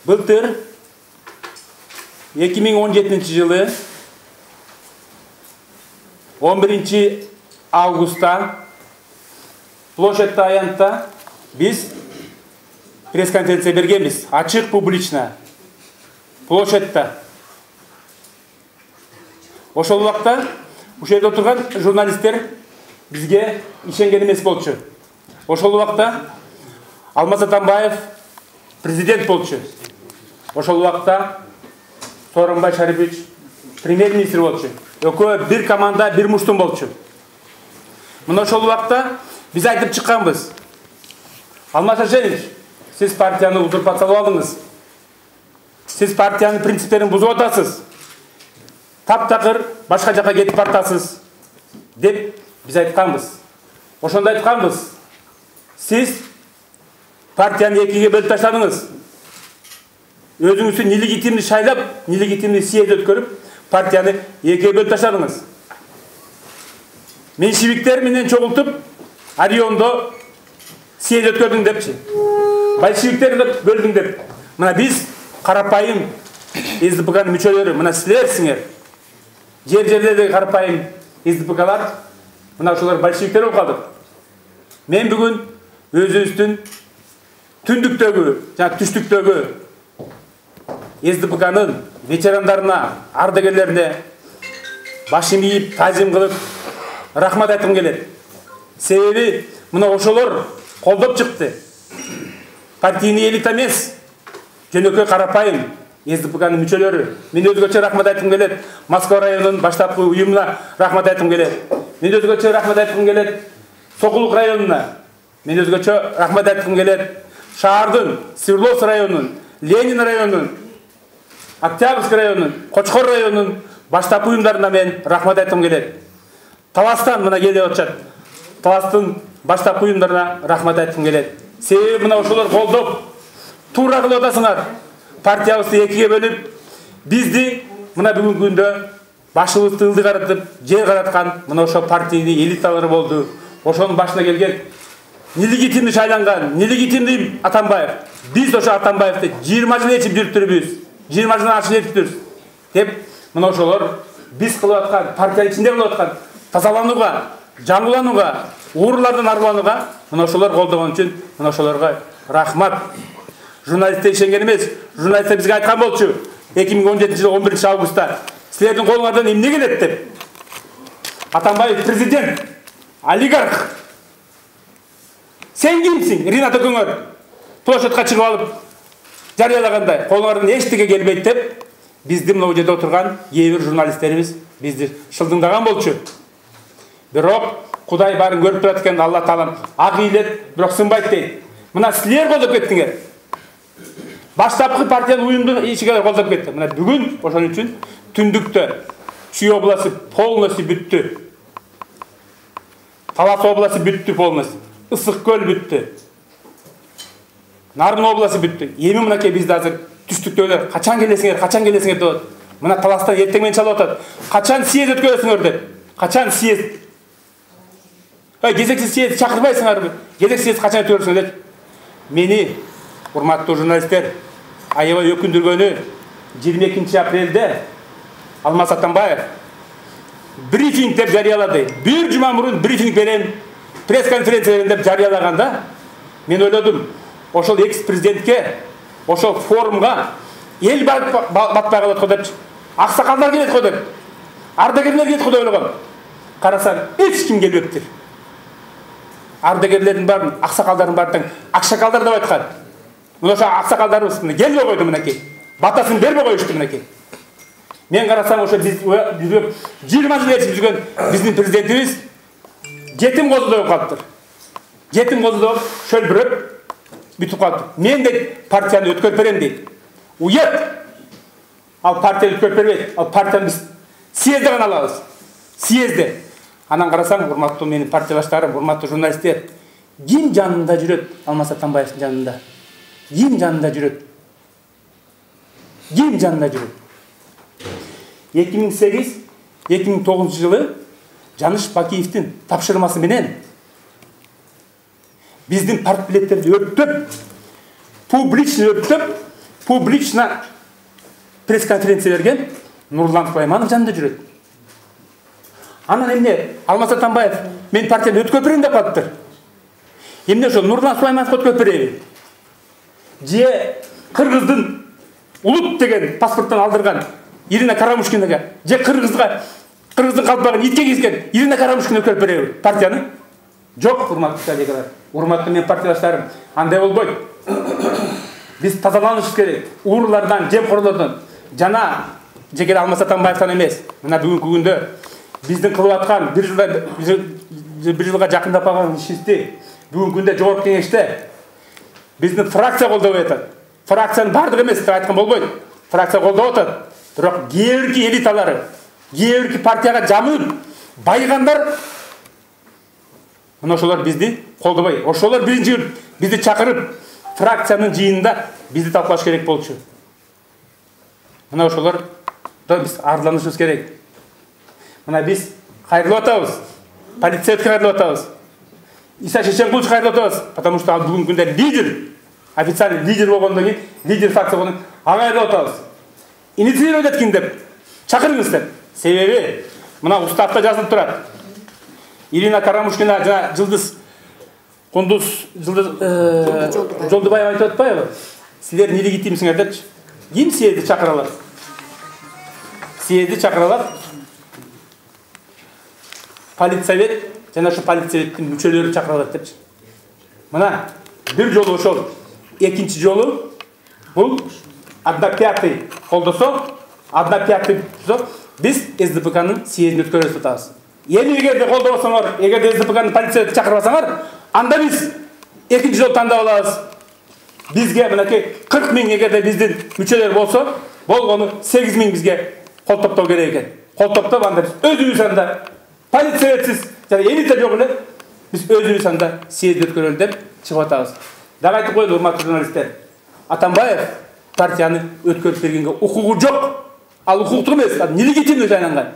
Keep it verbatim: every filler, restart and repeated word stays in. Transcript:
Былтыр эки миң он жетинчи жылы он биринчи августта площадь аянтта биз пресс-конференция бергенбиз. Ачык, публично. Площадьта. Ошол убакта ушул жерде отурган журналисттер бизге ишенген эмес болчу. Ошол убакта Алмаз Атамбаев президент болчу. Ошол убакта Сооронбай Шарипович премьер-министр болчу. Экөө бир команда, бир муштум болчу. Мына ошол убакта биз айтып чыкканбыз. Алмаз Шаршенович, сиз партияны узурпациялап алдыңыз. Сиз партиянын принциптерин бузуп атасыз. Таптакыр башка жака кетип бартасыз деп биз айтканбыз. Ошондо айтканбыз. Сиз партияны экиге бөлүп таштадыңыз. Өзүңүздү нелегитимдүү шайлап, нелегитимдүү съезд өткөрүп, партияны экиге бөлүп таштадыңыз. Меньшевиктер менен чогултуп, Ориондо съезд өткөрдүң депчи. Большевиктерди бөлдүң деп. Мына биз карапайым эс дэ пэ канын мүчөлөрү, мына силерсиңер. Жер жерлердеги карапайым эс дэ пэ калар, мына ошолор большевиктер болуп калдык. Мен бүгүн өзүбүздүн түндүктөгү, жана түштүктөгү эс дэ пэ канын ветерандарына, ардагерлерине башын ийип, тазим кылып, рахмат айткым келет. Себеби мына ошолор колдоп чыкты. Партийный элита эмес, жөнөкөй карапайым эс дэ пэ канын мүчөлөрү. Мен өзгөчө рахмат айткым келет. Москва районунун баштапкы уюмуна рахмат айткым келет. Мен өзгөчө рахмат айткым келет. Сокулук районуна. Мен өзгөчө рахмат айткым келет. Шаардын, Свердловск районунун, Ленин районунун, Октябрьский районунун, Кочкор районунун баштапкы уюмдарына мен рахмат айткым келет. Таластан мына келип атышат. Таластын баштапкы уюмдарына рахмат айткым келет. Себеби мына ошолор колдоп, туура кылып атасыңар. Партиябызды экиге бөлүп, бизди мына бүгүнкү күндө башыбызды ылдый каратып, жер караткан мына ошо партийный элиталар болду. Ошонун башына келген нелегитимдүү шайланган, нелегитимдүү Атамбаев. Биз ошо Атамбаевди жыйырма жыл ээрчип жүрүптүрбүз. жыйырма жылдан ашык ээрчиптирбиз. Деп мына ошолор биз кылып аткан, партиянын ичинде кылып аткан тазаланууга, жаңыланууга, уурулардан арыланууга мына ошолор колдогон үчүн мына ошолорго рахмат. Журналисттер ишенген эмес. Журналисттер бизге айткан болчу эки миң он жетинчи жылы он биринчи августта силердин колуңардан эмне келет деп. Атамбаев президент, олигарх. Сен кимсиң? Ринат экөөңөр площадька чыгып алып жарыялагандай колуңардан эчтеке келбейт деп бизди мына жерде отурган кээ бир журналисттерибиз бизди шылдыңдаган болчу. Бирок Кудай баарын көрүп турат экен, Алла Таалам ак ыйлет, бирок сынбайт дейт. Мына силер колдоп кеттиңер. Баштапкы партиянын уюмдун ишиге колдоп кетти. Мына бүгүн ошон үчүн түндүктө Чүй областы полностью бүттү. Талас областы бүттү полностью. Ысык көл бүттү. Нарын областы бүттү. Эми мынакей бизде азыр түштүктөгүлөр качан келесиңер, качан келесиңер деп атат. Мына Таластан эртең менен чалып атат. Качан съезд өткөрөсүңөр деп. Качан съезд? Ай, кезексиз съезд чакырбайсыңарбы? Кезексиз съезд качан өткөрөсүңөр деп. Мени, урматтуу журналисттер, аябай өкүндүргөнү жыйырма экинчи апрелде Алмаз Атамбаев брифинг деп жарыялады. Бир жума мурун брифинг берем, пресс-конференция берем деп жарыялаганда, мен ойлодум, ошол экс-президентке, ошол форумга эл батпай калат го деп, аксакалдар келет го деп, ардагерлер келет го деп ойлогом. Карасам, эч ким келбептир. Ардагерлердин баарын, аксакалдардын баарын акшакалдар деп айткан. Мына ошо аксакалдарыбыз келбей койду мынакей. Батасын бербей коюшту мынакей. Мен карасам ошо биз жыйырма жыл ээрчип жүргөн биздин президентибиз жетим козудой болуп калыптыр. Жетим козудой шөлбүрөп бүтүп калыптыр. Мен дейт партияны өткөрүп берем дейт. Уят. Ал партияны өткөрүп бербейт. Ал партияны биз съездде гана алабыз. Съездде. Анан карасам, урматтуу менин партиялаштарым, урматтуу журналисттер, ким жанында жүрөт? Алмаз Атамбаевдин жанында. Ким жанында жүрөт? Ким жанында жүрөт? эки миң сегиз эки миң тогузунчу жылы Жаныш Бакиевдин тапшырмасы менен биздин партбилеттерди өрттөп, публично өрттөп, публично пресс-конференция берген Нурлан Сулайманов жанында жүрөт. Анан эмне Алмаз Атамбаев мен партияны өткөрүп берейин деп калыптыр. Эмне ошо Нурлан Сулаймановго өткөрүп береби? Же Кыргыздын улут деген паспорттон алдырган Ирина Карамушкинага, же Кыргызга Кыргыздын калпагын итке кийген Ирина Карамушкина өткөрүп береби партияны? Жок, урматтуу коллегалар, урматтуу менин партиядаштарым, андай болбойт. Биз тазаланышыбыз керек. Уурулардан, жемкорлордон жана жеке Алмаз Атамбаевтан эмес. Мына бүгүнкү күндө биздин кылып аткан бир жылда бир жылга жакындап калган ишибизди бүгүнкү күндө жогорку кеңеште биздин фракция колдоп атат. Фракциянын бардыгы эмес деп айткан болбойт. Фракция колдоп атат. Бирок кээ бирки элиталары, кээ бирки партияга жамылып байыгандар мына ошолор бизди колдобой. Ошолор биринчи бизди чакырып фракциянын жыйынында бизди талкуулаш керек болчу. Мына ошолор да биз арланышыбыз керек. Мына биз кайрылып атабыз. Полицейге кайрылып атабыз. Иса Шешенкулович кайрылып атабыз, потому что ал бүгүнкү күндө лидер, официальный лидер болгондон кийин, лидер фракция болгондон кийин кайрылып атабыз. Инициировать эткин деп чакырыңыз деп. Себеби мына уставда жазылып турат. Ирина Карамушкина жана Жылдыз Кундуз Жылдыз Жолдубаева айтып атпайбы? Силер нелегитимсиңер депчи. Ким силерди чакыра алат? Силерди чакыра алат политсовет жана ошо политсоветтин мүчөлөрү чакыра алат депчи. Мына бир жолу ошол, экинчи жолу бул одна пятый колдосо, одна пятый биз СДПКнын съездин өткөрүп атабыз. Эми эгерде колдобосоңор, эгерде СДПКнын полицияны чакырбасаңар, анда биз экинчи жол тандап алабыз. Бизге мынакей кырк миң эгерде биздин мүчөлөр болсо, болгону сегиз миң бизге кол топтоо керек экен. Кол топтоп анда биз өзүбүз анда полициятсыз жана элита жок эле биз өзүбүз анда съезд өткөрөлү деп чыгып атабыз. Дагы айтып коелу, урматтуу журналисттер. Атамбаев партияны өткөрүп бергенге укугу жок. Ал укуктуу эмес, нелегитимдүү жайланган.